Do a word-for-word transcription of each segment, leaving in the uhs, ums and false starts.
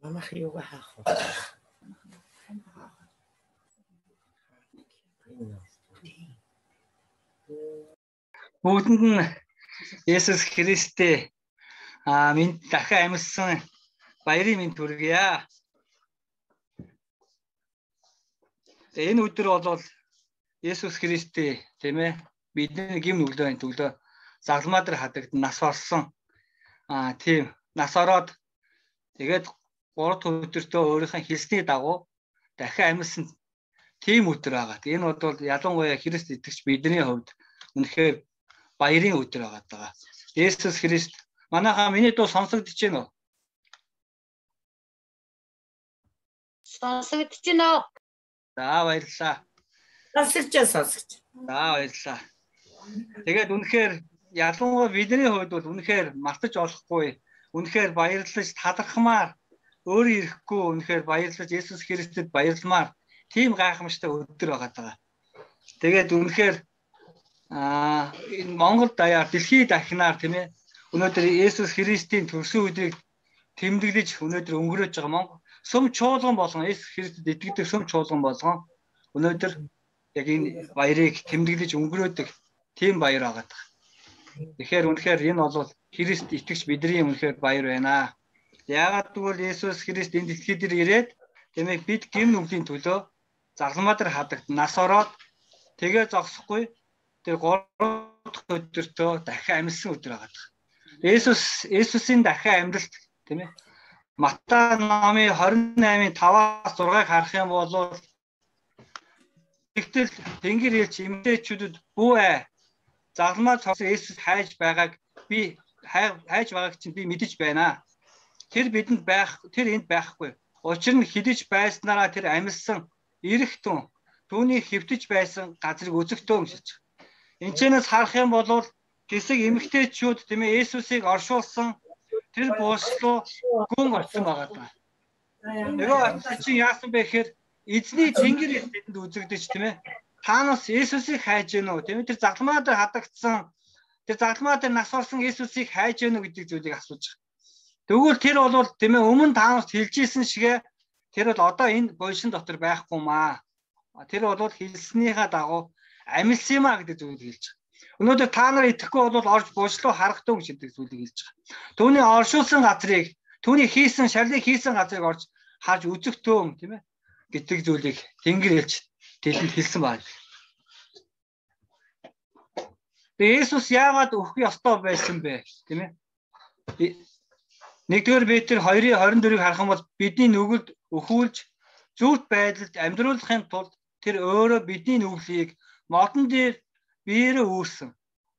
Манайх юугаа хаах вэ? Бүгдэнд нь Есүс Христтэй аа минь дахин амьдсан баярын минь төргийа. Энэ өдөр бол Есүс Христтэй тийм ээ бидний гим нүглөөний төлөө загламаа дээр хадагд нас орсон. Аа тийм нас ороод тэгээд гурав өдөртөө өөрийнхөө хэлсний дагуу дахин амьдсан тийм өдөр байгаа. Энэ бол ялангуяа Христ итгэж бидний хувьд үнэхээр баярын өдөр байгаа. Есүс Христ манайхаа миний дуу сонсогдож байна уу? Сонсогдож байна. За баярлалаа. Сонсогч сонсогч. За баярлалаа. Тэгээд үнэхээр ялангуяа бидний хувьд бол үнэхээр мартаж болохгүй. Үнэхээр баярлаж талархмаар өөрөө ирэхгүй үнэхээр баярлаж Есүс Христэд баярламаар тийм гайхамшигтай өдөр байгаа. Тэгээд үнэхээр аа энэ Монгол даяар дэлхийд дахинаар тийм ээ өнөөдөр Есүс Христийн төрсөн өдрийг тэмдэглэж өнөөдөр өнгөрөөж байгаа Монгол сүм чуулган болгон Есүс Христэд итгэдэг сүм чуулган болгон өнөөдөр яг энэ баярыг тэмдэглэж өнгөрөөдөг тийм баяр байгаа. Тэгэхээр үнэхээр энэ бол Христ итгэж бидний үнэхээр баяр байна. Яагаад гэвэл Есүс Христ энэ дэлхий дээр ирээд тийм ээ бид гим нүглийн төлөө загламаа дээр хадагд нас ороод тэгээ зогсохгүй тэр гурав дахь өдөртөө дахин амьдсан өдөр байгаа. Есүс Есүсийн дахин амьдлт тийм ээ Матай номын двадцать восемь таваас зургааг харах юм бол тэгтэл Тэнгэр элч эмгтээчүүдэд бүү ээ загламаа цогсон Есүс хайж байгааг би хайж байгааг чинь би мэдэж байна. Тэр бидэнд байх тэр энд байхгүй. Учир нь хідэж байснараа тэр амьдсан ирэх түн түүний хэвтэж байсан газрыг үзэхтөө өмсөж. Энэчнээс харах юм бол хэсэг эмгтээчүүд тийм ээ Есүсийг оршуулсан тэр бууслуу гүн орсон байгаа. Нөгөө атаа чи яасан бэ гэхээр эзний Тэнгэр бидэнд үзэгдэж тийм ээ. Та нас Есүсийг хайж гэнэ үү? Тийм ээ тэр загламаа дээр хадагдсан тэр загламаа дээр нас орсон Есүсийг хайж гэнэ үү гэдэг зүйлийг асууж байгаа. Тэгвэл тэр бол тийм ээ өмнө та нарт хэлжсэн шигэ тэр бол одоо энэ бойшин дотор байхгүй маа. Тэр бол хэлснийхаа дагуу амьдсан юм а гэдэг зүйлийг хэлж байгаа. Өнөөдөр та нар итгэхгүй бол орж буучлуу харагдав гэдэг зүйлийг хэлж байгаа. Түүний оршуулсан газрыг, түүний хийсэн шарлыг хийсэн газрыг орж харж үзэхтөө тийм ээ гэдэг зүйлийг Тэнгэр хэлж дэлэнд хэлсэн байна. Тэгээ Есүс яагаад өгөх ёстой байсан бэ тийм ээ? нэгдүгээр Петр двойн двадцать дөрвийг харах юм бол бидний нүгэлд өхүүлж зүрт байдалд амьдруулахын тулд тэр өөрөө бидний нүглийг модон дээр биеэрээ үүрсэн.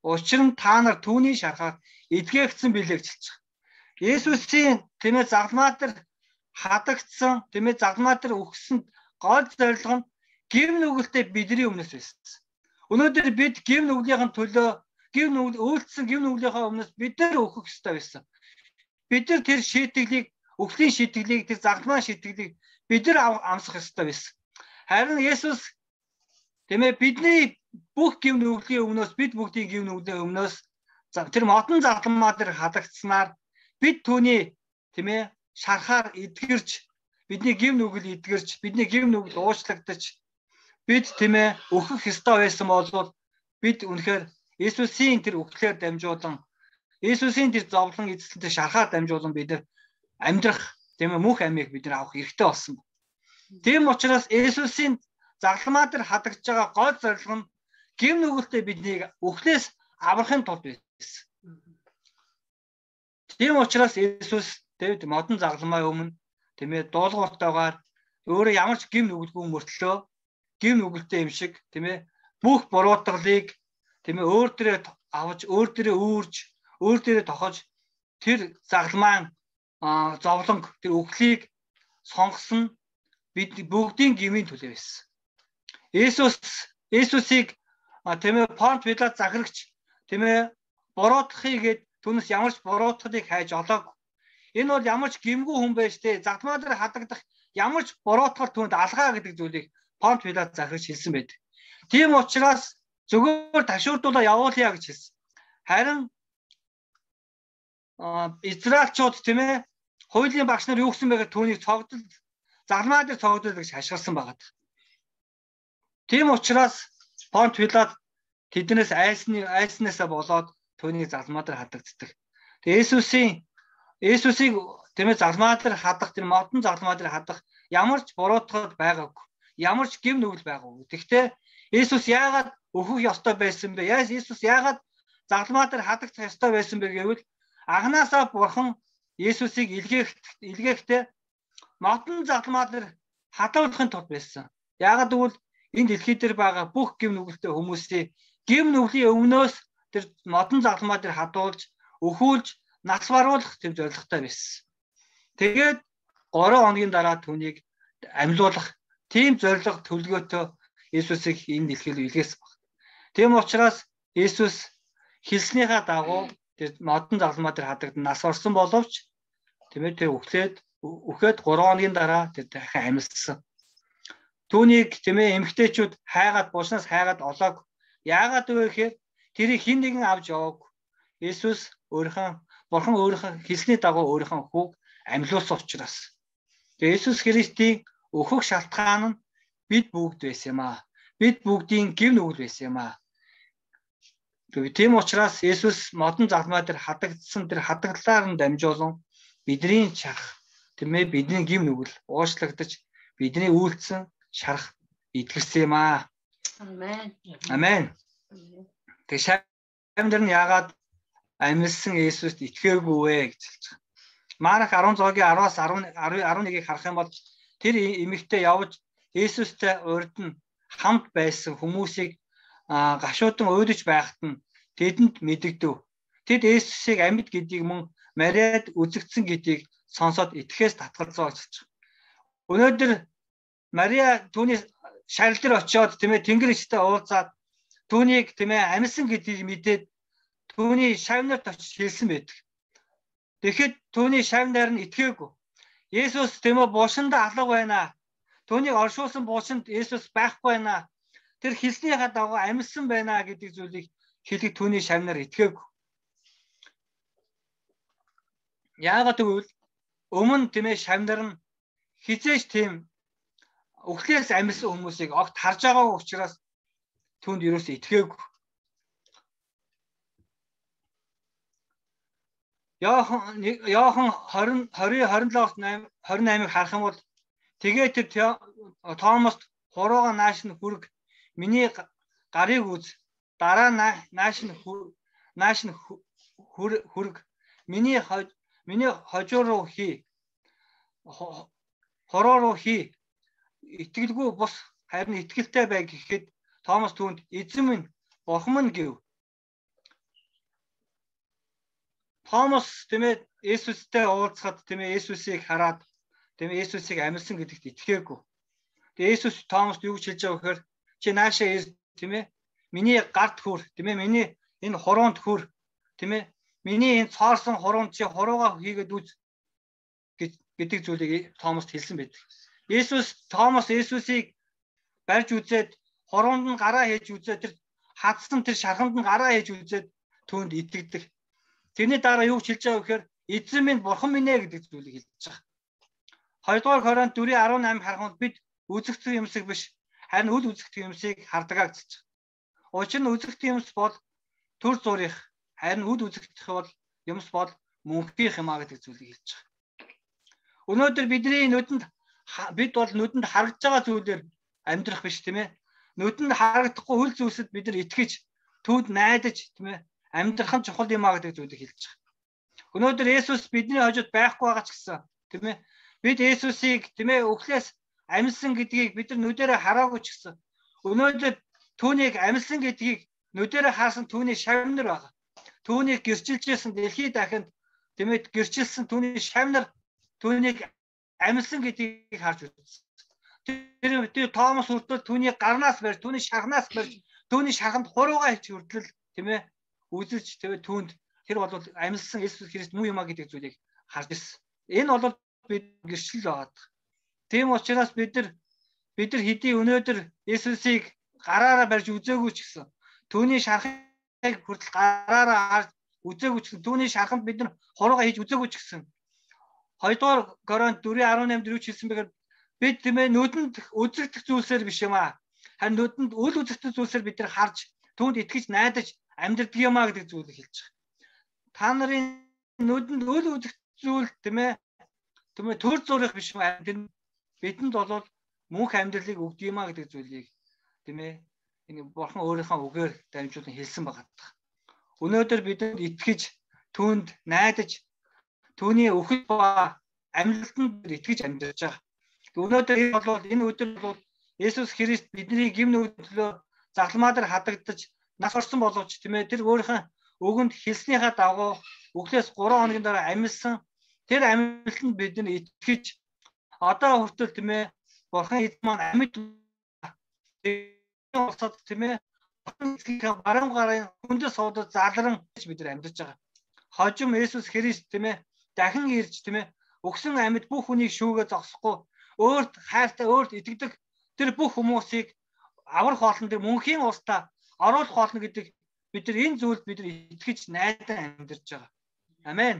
Учир нь та нар түүний шарахаар эдгээгдсэн билээ гэж хэлж байгаа. Есүсийн тийм ээ загламаа дээр хадагдсан тийм ээ загламаа дээр өгсөн гол зорилго нь гим нүгэлтэй бидний өмнөөс байсан. Өнөөдөр бид гим нүглийнхэн төлөө гим нүгэл үйлдэлсэн гим нүглийнхаа өмнөөс бид нар өгөх ёстой байсан. Бид нар тэр шийтгэлийг өхлийн шийтгэлийг тэр загламаа шийтгэлийг бид нар амсах ёстой байсан. Харин Есүс тийм ээ бидний бүх гим нүглийн өмнөөс бид бүгдийн гим нүглийн өмнөөс тэр модон загламаа дээр хадагдсанаар бид түүний тийм ээ шарахаар эдгэрч бидний гим нүгэл эдгэрч бидний гим нүгэл уучлагдаж бид тийм ээ өөхөх ёстой байсан бол бид үнэхээр Есүсийн тэр өгөхлөөр дамжуулан Есүсийн тэр зовлон эзэлтэй шарахаар дамжуулан бид нар амьдрах тийм ээ мөнх амийг бид нар авах хэрэгтэй болсон. Тийм учраас Есүсийн загламаа дээр хадагдж байгаа гол зорилго нь гим нүгэлтэй биднийг өхлөөс аврахын тулд байсан. Тийм учраас Есүс тэвд модон загламаа өмнө тийм ээ дуулууртайгаар өөрөө ямар ч гим нүгэлгүй мөртлөө гим нүгэлтэй юм шиг тийм ээ бүх буруутгалыг тийм ээ өөр дээрээ авч өөр дээрээ үүрж өөр дээрээ тохож тэр загламаан зовлонг тэр өхлийг сонгосон бид бүгдийн гмийн төлөө байсан. Есүс Есүсийг тийм ээ Понт Пилат захирагч тийм ээ буруутгахыгээд түүнээс ямар ч буруутгалыг хайж олоогүй. Энэ бол ямар ч гимгүй хүн байж тээ загламаа дээр хадагдах ямар ч буруутгал түүнд алгаа гэдэг зүйлийг Понт Пилат захирагч хэлсэн байдаг. Тийм учраас зөвхөн ташуурдуулаа явуулъя гэж хэлсэн. Харин Израильчууд тийм ээ Хуулийн багш нар юу гэсэн бэ гэхээр түүнийг цогдол загламаа дээр цогдол гэж хашгирсан байгаа. Тийм учраас Понт Пилат тэднээс айсны айснасаа болоод түүнийг загламаа дээр хадагддаг. Тэгээ Есүсийн Есүсийг тэмээ загламаа дээр хадах, тэр модон загламаа дээр хадах ямар ч буруутгал байгаагүй. Ямар ч гэм нүгэл байгаагүй. Гэхдээ Есүс яагаад өөхөх ёстой байсан бэ? Есүс яагаад загламаа дээр хадагдах ёстой байсан бэ гэвэл анханасаа Бурхан Есүсийг илгээх илгээхдээ модон загламаа дээр хадгалахын тулд байсан. Яагаад гэвэл энэ дэлхий дээр байгаа бүх гэм нүгэлтэй хүмүүсийг гэм нүглийн өмнөөс тэр модон загламаа дээр хадуулж, өхүүлж, нас баруулах тэм зорилготой байсан. Тэгээд гурван хоногийн дараа түүнийг амьлуулах тийм зорилго төлөвлөгөөтэй Есүсийг энэ дэлхийд илгээсэн баг. Тийм учраас Есүс хэлснийхаа дагуу тэр модон загламаа дээр хадагдан нас орсон боловч тийм ээ тэр өглөөд өөхөд гурван хоногийн дараа тэр дахин амьдсан. Түүнийг тийм ээ эмэгтэйчүүд хайгаад буушнаас хайгаад олоог. Яагаад вэ гэхээр тэрийг хэн нэгэн авч яваагүй. Есүс өөрийнхөө Бурхан өөрийнхөө хэлсний дагуу өөрийнхөө хүүг амьлуулсан учраас. Тэгээ Есүс Христийн өөхөх шалтгаан нь бид бүгд байсан юм аа. Бид бүгдийн гэв нүгэл байсан юм аа. Тийм учраас Есүс модон загламаа дээр хадагдсан тэр хадагдлаар нь дамжуулан бидний чарах тийм ээ бидний гэв нүгэл уучлагдаж бидний үйлдэлсэн шарах идгэрсэн юм аа. Амен. Амен. Тэг шамдар нь яагаад амьдсан Есүст итгээгүй вэ гэж хэлж байгаа. Марк арван зоогийн араас арван нэгийг харах юм бол тэр эмэгтэй явж Есүстэй урд нь хамт байсан хүмүүсийг гашуудан уйлж байхад нь тэдэнд мэдэгдэв. Тэд Есүсийг амьд гэдгийг мөн Мариад үзэгдсэн гэдгийг сонсоод итгэхээс татгалзаа гэж байна. Өнөөдөр Мария түүний шарил дээр очиод тийм ээ Тэнгэр ичтэй уулзаад түүнийг тийм ээ амьсан гэдгийг мэдээд түүний шавнарт очиж хэлсэн байдаг. Тэгэхэд түүний шавнар нь итгээгүй. Есүс тийм ээ буушинд алга байна. Түүнийг оршуулсан буушинд Есүс байхгүй байна. Тэр хэлснийхаа дагуу амьсан байна гэдэг зүйлийг хэлэх түүний шавнар итгээгүй. Яагаад гэвэл өмнө тийм ээ шавнар нь хизээш тийм өглөөс амьсан хүмүүсийг огт харж байгаа учраас түүнд юусоо итгээгүй. Яохан Яохан двадцать двадцать двадцать28-ыг харах юм бол тэгээд тэр Томост хурууга нааш нь хүрг миний гарыг үз дараа нааш нь нааш нь хүрг миний миний хожуу руу хий хороо руу хий итгэлгүй бус харин итгэлтэй бай гэхэд Томос түүнд эзэн минь Бурхан минь гэв. Томос тийм ээ Есүстэй уулзахад тийм ээ Есүсийг хараад тийм ээ Есүсийг амьдсан гэдэгт итгээгүй. Тэгээ Есүс Томост юу гэж хэлж байгаа гэхээр чи наашаа ир тийм ээ миний гарт хүр тийм ээ миний энэ хуруунд хүр тийм ээ миний энэ цоорсон хуруунд чи хуруугаа хийгээд үз гэдэг зүйлийг Томост хэлсэн байдаг. Есүс Томос Есүсийг барьж үзээд хуруунд нь гараа хийж үзээд тэр хадсан тэр шарханд нь гараа хийж үзээд түүнд итгэдэг. Тэрний дараа юу хэлж байгаа вэ гэхээр эзэн минь Бурхан минь ээ гэдэг зүйлийг хэлж байгаа. Хоёрдугаар Коринт дөрвийн арван восемь харахад бид үзэгдэх юмсыг биш харин үл үзэгдэх юмсыг хардаг гэж байна. Учир нь үзэгдэх юмс бол төр зурих харин үл үзэгдэх бол юмс бол мөнхийнх юм а гэдэг зүйлийг хэлж байгаа. Өнөөдөр бидний нүдэнд бид бол нүдэнд харагдж байгаа зүйлээр амьдрах биш тийм ээ. Нүдэнд харагдахгүй хөл зүйлсэд бид нар итгэж түүнд найдаж тийм ээ амьдрах нь чухал юм а гэдэг зүйлийг хэлж байгаа. Өнөөдөр Есүс бидний хажууд байхгүй байгаа ч гэсэн тийм ээ бид Есүсийг тийм ээ өглөөс амьсан гэдгийг бид нар нүдэрээ хараагүй ч гэсэн өнөөдөр түүнийг амьсан гэдгийг нүдэрээ харсан түүний шавнар байгаа. Түүнийг гэрчилжсэн дэлхийд дахинд тийм ээ гэрчилсэн түүний шавнар түүнийг амьсан гэдгийг харж үзсэн. Тэр тэр Томос хүртэл түүний гарнаас барьж түүний шархнаас барьж түүний шарханд хуруугаа хийж хүртэл тийм ээ үзэж тийм ээ түүнд тэр бол амьсан Есүс Христ муу юм а гэдэг зүйлийг харж ирсэн. Энэ бол бид гэрчлэл байгаа. Тийм учраас бид нар бид нар хэдий өнөөдөр Есүсийг гараараа барьж үзээгүй ч гэсэн түүний шархыг хүртэл гараараа харж үзээгүй ч гэсэн түүний шарханд бид нар хуруугаа хийж үзээгүй ч гэсэн хоёрдугаар Коринт дөрвөн арван наймд юу ч хэлсэн бэхээр бид тийм ээ нүдэнд үзэгдэх зүйлсээр биш юм аа. Харин нүдэнд үл үзэгдэх зүйлсээр бид нар харж түүнд итгэж найдаж амьдрдаг юм аа гэдэг зүйлийг хэлж байгаа. Та нарын нүдэнд үл үзэгдэх зүйл тийм ээ тийм ээ төр зурх биш юм аа. Бидэнд бол мөнх амьдралыг өгдөг юм аа гэдэг зүйлийг тийм ээ энэ бурхан өөрийнхөө үгээр дамжуулан хэлсэн байгаа. Өнөөдөр бидэнд итгэж түүнд найдаж түүний өхөл ба амьдралтанд итгэж амьдарч байгаа. Өнөөдөр энэ бол энэ өдөр бол Есүс Христ бидний гим нүдлөө загламаа дээр хадагдаж нас орсон боловч тийм ээ тэр өөрийнхөө өгөнд хэлснийхаа дагуу өглөөс гурван хоногийн дараа амьдсан тэр амьдлалтанд бид нар итгэж одоо хүртэл тийм ээ бурхан эзэн маань амьд улсад тийм ээ баруун гарын хүндээ суудад залран бид нар амьдарч байгаа. Хожим Есүс Христ тийм ээ дахин ирж тийм ээ өгсөн амьд бүх хүнийг шүүгээ зогсохгүй өөрт хайртай өөрт итгэдэг тэр бүх хүмүүсийг аврах болно тэр мөнхийн улстай оруулах болно гэдэг бид нар энэ зүйлд бид нар итгэж найдан амьдарч байгаа. Амен.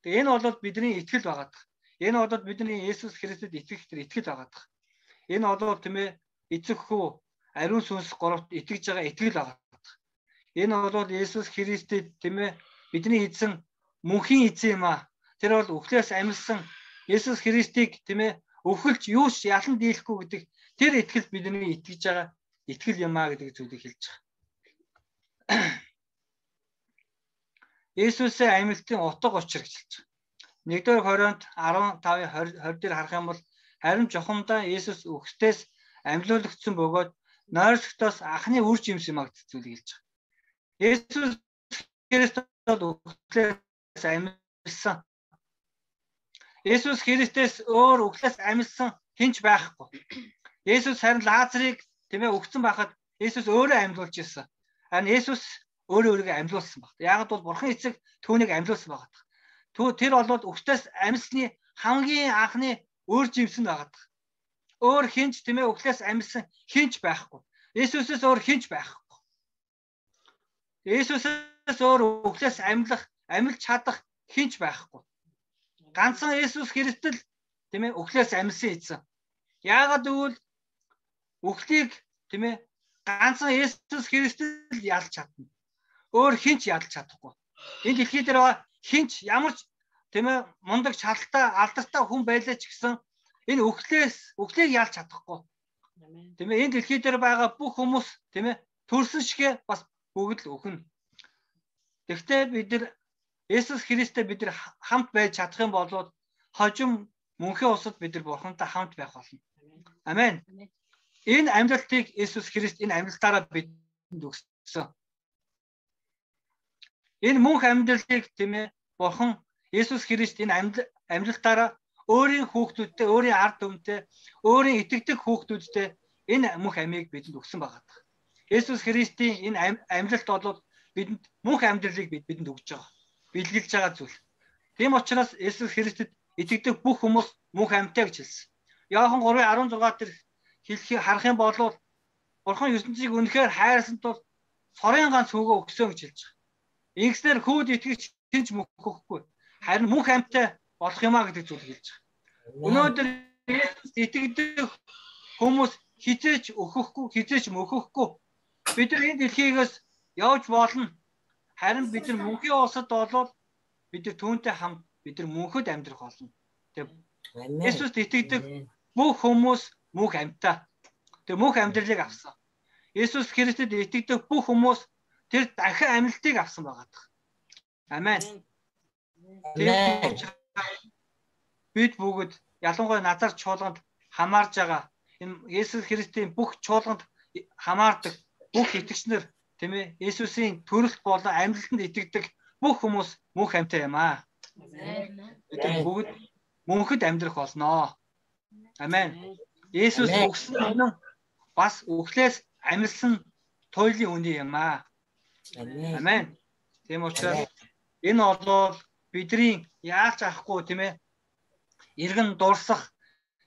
Тэгээ энэ бол бидний итгэл байгаа. Энэ бол бидний Есүс Христэд итгэх тэр итгэл байгаа. Энэ бол тийм ээ эцэг хүү ариун сүнс гуравт итгэж байгаа итгэл байгаа. Энэ бол Есүс Христэд тийм ээ бидний эзэн мөнхийн эзэн юм аа. Тэр бол өхлөөс амьдсан Есүс Христийг тийм ээ өвхөлж юуш ялан дийлэхгүй гэдэг тэр итгэл бидний итгэж байгаа итгэл юм аа гэдэг зүйлийг хэлж байгаа. Есүсийн амьлтын утга учир гэж хэлж байгаа. нэгдүгээр Коринт арван тавын двадцать дээр харах юм бол харин жохомдоо Есүс өгтөөс амьлуулагдсан бөгөөд нойрсогтоос анхны үр жимс юм аа гэдэг зүйлийг хэлж байгаа. Есүс Христос өгтөөс амьлсан. Есүс Христос өөр өглөөс амьдсан хинч байхгүй. Есүс харин Лазарыг тийм ээ өгсөн байхад Есүс өөрөө амьлуулж ирсэн. Харин Есүс өөрөө өөрийгөө амьлуулсан баг. Яг бол бурхан эцэг түүнийг амьлуулсан байгаа. Түү тэр бол өглөөс амьсны хамгийн анхны өөр жимсэн байгаа. Өөр хинч тийм ээ өглөөс амьсан хинч байхгүй. Есүсээс өөр хинч байхгүй. Есүсээс өөр өглөөс амьлах, амьлж чадах хинч байхгүй. Ганцхан Есүс Христэл тийм ээ өглөөс амьсан эзэн. Яагаад гэвэл өглийг тийм ээ ганцхан Есүс Христэл ялж чадна. Өөр хинч ялж чадахгүй. Энэ дэлхий дээр байгаа хинч ямар ч тийм ээ мундаг чадaltaй алдартай хүн байлаа ч гэсэн энэ өглөөс өглийг ялж чадахгүй. Тийм ээ энэ дэлхий дээр байгаа бүх хүмүүс тийм ээ төрсөн шигэ бас бүгд л өхнө. Тэгвэл бид нар Есүс Христтэй бид нар хамт байж чадах юм бол хожим мөнхийн улсад бид нар бурхантай хамт байх болно. Амен. Энэ амьдлалтыг Есүс Христ энэ амьдлалтаараа бидэнд өгсөн. Энэ мөнх амьдлалыг тийм ээ бурхан Есүс Христ энэ амьдлалтаараа өөрийн хүүхдүүдтэй, өөрийн ард түмтэй, өөрийн итгэдэг хүүхдүүдтэй энэ мөнх амийг бидэнд өгсөн байгаа. Есүс Христийн энэ амьдлалт бол бидэнд мөнх амьдралыг бидэнд өгж байгаа. Билгэлж байгаа зүйл. Тийм учраас Есүс Христэд итгэдэг бүх хүмүүс мөнх амьтаа гэж хэлсэн. Иохан гурван арван зургаар дээр хэлхийг харах юм бол бурхан ертөнцийг үнэхээр хайрласан тул сорын ганц хөөгөө өгсөн гэж хэлж байгаа. Ингэснээр хүүд итгэж хинч мөхөхгүй. Харин мөнх амьтаа болох юмаа гэдэг зүйлийг хэлж байгаа. Өнөөдөр Есүс итгэдэг хүмүүс хизээч өөхөхгүй, хизээч мөхөхгүй. Бид нар энэ дэлхийгээс явж болно. Харин бид нар мөнхийн улсад болоод бид нар түүнтэй хамт бид нар мөнхөд амьдрах болно. Тэг. Есүст итгэдэг бүх хүмүүс мөнх амьтаа. Тэг мөнх амьдралыг авсан. Есүс Христэд итгэдэг бүх хүмүүс тэр дахин амьлтыг авсан байгаа. Амен. Бид бүгд ялангуяа назар чуулганд хамаарж байгаа. Энэ Есүс Христийн бүх чуулганд хамаардаг бүх итгэгчнэр тийм ээ Есүсийн төрөлт болон амьдлалтанд итгэдэг бүх хүмүүс мөнх амьтаа юм аа. Бид бүгд мөнхөд амьдрах болноо. Амен. Есүс өгсөн үнэн бас өглөөс амьсан туйлын үнэ юм аа. Амен. Тийм учраас энэ бол бидний яаж авахгүй тийм ээ иргэн дурсах,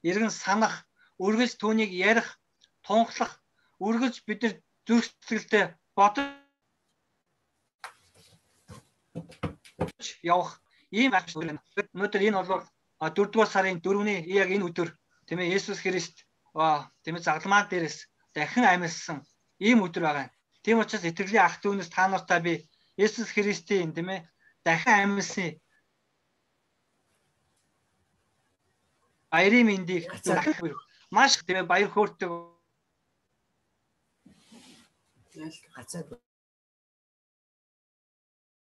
иргэн санах, үргэлж түүнийг ярих, тунхлах, үргэлж бид нар зүрх сэтгэлдээ бодож явах ийм ах өнөөдөр энэ бол дөрөвдүгээр сарын дөрөвний яг энэ өдөр тийм ээ Есүс Христ тийм ээ загламаа дээрээс дахин амьдсан ийм өдөр байгаа. Тийм учраас итгэлийн ах дүүнээс та нартай би Есүс Христийн тийм ээ дахин амьдсан баярын мэндийг маш тийм ээ баяр хөөртэй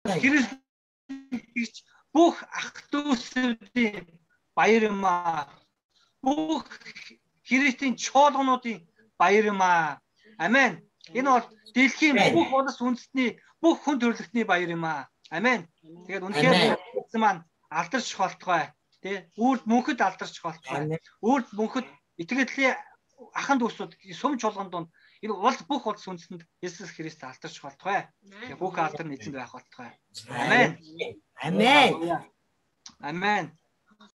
Христ бүх ах дүүсүүдийн баяр юм аа. Бүх Христийн чуулгануудын баяр юм аа. Амен. Энэ бол дэлхийн бүх улс үндэстний бүх хүн төрөлхтний баяр юм аа. Амен. Тэгээд үнэхээр эзэн маань алдарч болтугай. Тэ үрд мөнхөд алдарч болтугай. Үрд мөнхөд итгэлийн ахан дүүсүүд сүм чуулган донд энэ улс бүх улс үндэстэнд Есүс Христ алдарч болтугай. Бүх алдар нь эзэнд байх болтугай. Амен. Амен. Амен.